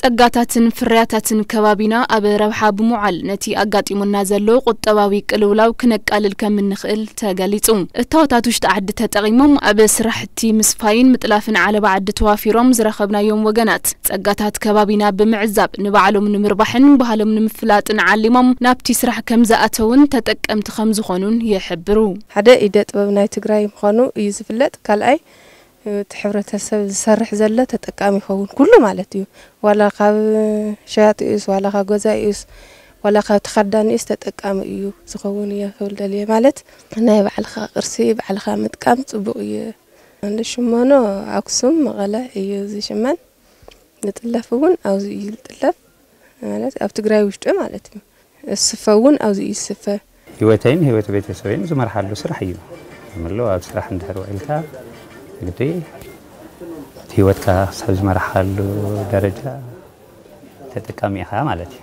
ጸጋታትን ፍርያታትን ከባቢና ኣብ ረብሓ ብምውዓል ነቲ ኣጋጢሙና ዘሎ ቁጠባዊ ቅልውላው ክነቃልል ከም እንኽእል ተገሊጹ። እታወታት ውሽጢ ዓዲ ተጠቒሞም ኣብ ስራሕቲ ምስፋይን ምጥላፍን ዓለባ ዓዲ ተዋፊሮም ዝረኸብናዮም ወገናት ጸጋታት ከባቢና ብምዕዛብ ንባዕሎም ንምርባሕን ባህሎም ንምፍላጥን ዓሊሞም ናብቲ ስራሕ ከም ዝኣተውን ተጠቀምቲ ከም ዝኾኑን ይሕብሩ። ሓደ ኢደ ጥበብ ናይ ትግራይ ምዃኑ እዩ ዝፍለጥ። ካልኣይ እቲ ሕብረተሰብ ዝሰርሕ ዘሎ ተጠቃሚ ይኸውን ኩሉ ማለት እዩ። ዋላ ካብ ሸያጢኡስ ዋላ ካብ ገዛኢኡስ ዋላ ካብ ተኸዳኒኡስ ተጠቃሚ እዩ ዝኸውን እየ ክብል ደልየ። ማለት ናይ ባዕልኻ ቅርሲ ባዕልኻ ምጥቃም ጽቡቕ እዩ። እንደ ሽመኖ ኣክሱም መቐለ እዩ ዝሽመን። ዝጥለፍ እውን ኣብዚ እዩ ዝጥለፍ፣ ማለት ኣብ ትግራይ ውሽጢ ማለት እዩ። ዝስፈ እውን ኣብዚ እዩ ዝስፈ። ህይወተይን ህይወት ቤተሰበይን ዝመርሓሉ ስራሕ እዩ። ምሎ ኣብ ስራሕ እንድሕር ውዒልካ ግዲ እቲ ህይወትካ ክሳብ ዝመርሓሉ ደረጃ ተጠቃሚ ኢኻ ማለት እዩ።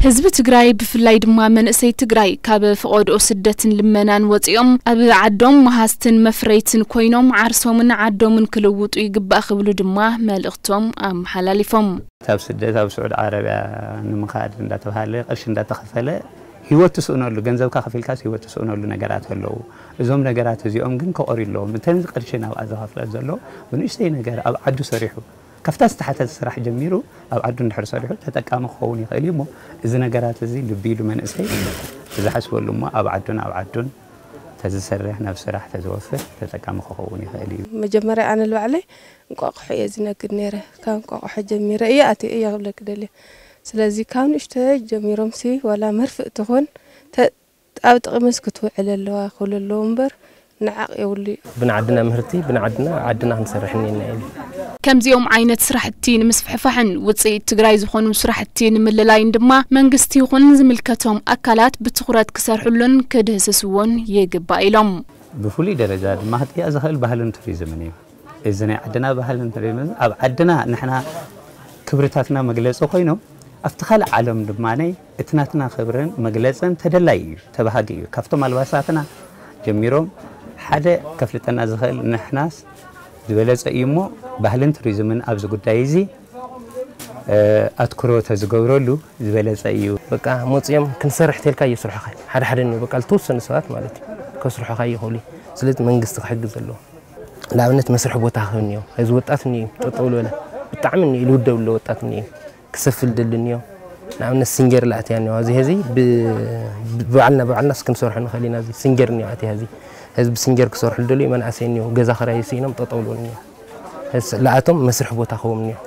ህዝቢ ትግራይ ብፍላይ ድማ መንእሰይ ትግራይ ካብ ፈቐድኦ ስደትን ልመናን ወፂኦም ኣብ ዓዶም መሃዝትን መፍረይትን ኮይኖም ዓርሶምን ዓዶምን ክልውጡ ይግባእ ክብሉ ድማ መልእኽቶም ኣመሓላሊፎም። ኣብ ስደት ኣብ ስዑድ ዓረብያ ንምኻድ እንዳተባሃለ ቅርሺ እንዳተኸፈለ ህይወት ትስእነሉ፣ ገንዘብካ ከፊልካስ ህይወት ትስእነሉ ነገራት ኣለዉ። እዞም ነገራት እዚኦም ግን ከቐርዩ ኣለዎም። እተን ቅርሺ ናብኣ ዘኸፍለ ዘሎ ብንእሽተይ ነገር ኣብ ዓዱ ሰሪሑ ካብታ ዝተሓተተ ስራሕ ጀሚሩ ኣብ ዓዱ እንድሕር ሰሪሑ ተጠቃሚ ክኸውን ይኽእል እዩ። እሞ እዚ ነገራት እዚ ልቢ ኢሉ መንእሰይ ዝሓስበሉ እሞ ኣብ ዓዱን ኣብ ዓዱን ተዝሰርሕ ናብ ስራሕ ተዝወፍር ተጠቃሚ ክኸውን ይኽእል እዩ። መጀመርያ ኣነ ንባዕለይ እንቋቑሖ እየ ዝነግድ ነይረ። ካብ እንቋቑሖ ጀሚረ እየ ኣትየ እየ ክብለኪ ደልየ። ስለዚ ካብ ንእሽተይ ጀሚሮምሲ ዋላ መርፍእ ትኹን ተ- ኣብ ጥቕምስ ክትውዕል ኣለዋ ክብሉ ኣለዉ እምበር ንዓቕ የብሉ እዩ። ብንዓድና ምህርቲ ብንዓድና ዓድና ክንሰርሕ እኒና እዩ። ከምዚኦም ዓይነት ስራሕቲ ንምስፍሕፋሕን ውፅኢት ትግራይ ዝኾኑ ስራሕቲ ንምልላይን ድማ መንግስቲ ይኹን ዝምልከቶም ኣካላት ብትኹረት ክሰርሕሉን ክድህስስዎን ይግባእ ኢሎም። ብፍሉይ ደረጃ ድማ ክጥያእ ዝኽእል ባህልን ቱሪዝምን እዩ። እዚ ናይ ዓድና ባህልን ቱሪዝምን ኣብ ዓድና ንሕና ክብርታትና መግለፂ ኮይኖም ኣብቲ ካልእ ዓለም ድማ እቲ ናትና ክብርን መግለፅን ተደላይ እዩ፣ ተባሃጊ እዩ። ካብቶም ኣልባሳትና ጀሚሮም ሓደ ከፍልጠና ዝኽእል ንሕናስ ዝበለፀ እዩ እሞ ባህልን ቱሪዝምን ኣብዚ ጉዳይ እዚ ኣትኩሮ ተዝገብረሉ ዝበለፀ እዩ። በቃ መፅኦም ክንሰርሕ ተልካ እየስርሖኻ ሓደ ሓደ እኒኦ በቃ ዝተወሰኑ ሰባት ማለት እዩ ከስርሖኻ ይኽእሉ እዩ። ስለዚ መንግስቲ ክሕግዝ ኣለዎ። ንኣብነት መስርሒ ቦታ ክህብ እኒኦ እዚ ወጣት እኒኦ እዩ ጠጠው ዝበለ ብጣዕሚ እኒኦ ኢሉ ውደብ ኣሎ ወጣት እኒኦ እዩ ክሰፍል ደሊ እኒኦ ንኣብነት ሲንጀር ላእትያ እኒኦ እዚ ሄዚ ብባዕልና ባዕልና ክንሰርሖ ንኽእል ኢና እዚ ሲንጀር እኒኦ ኣትያ ሄዚ ህዝቢ ሲንጀር ክሰርሑ ደልዩ መናእሰይ እኒኦ ገዛ ክራይ ስኢኖም ጠጠው ዝበሉ እኒኦ ለኣቶም መስርሒ ቦታ ክህቦም እኒኦ።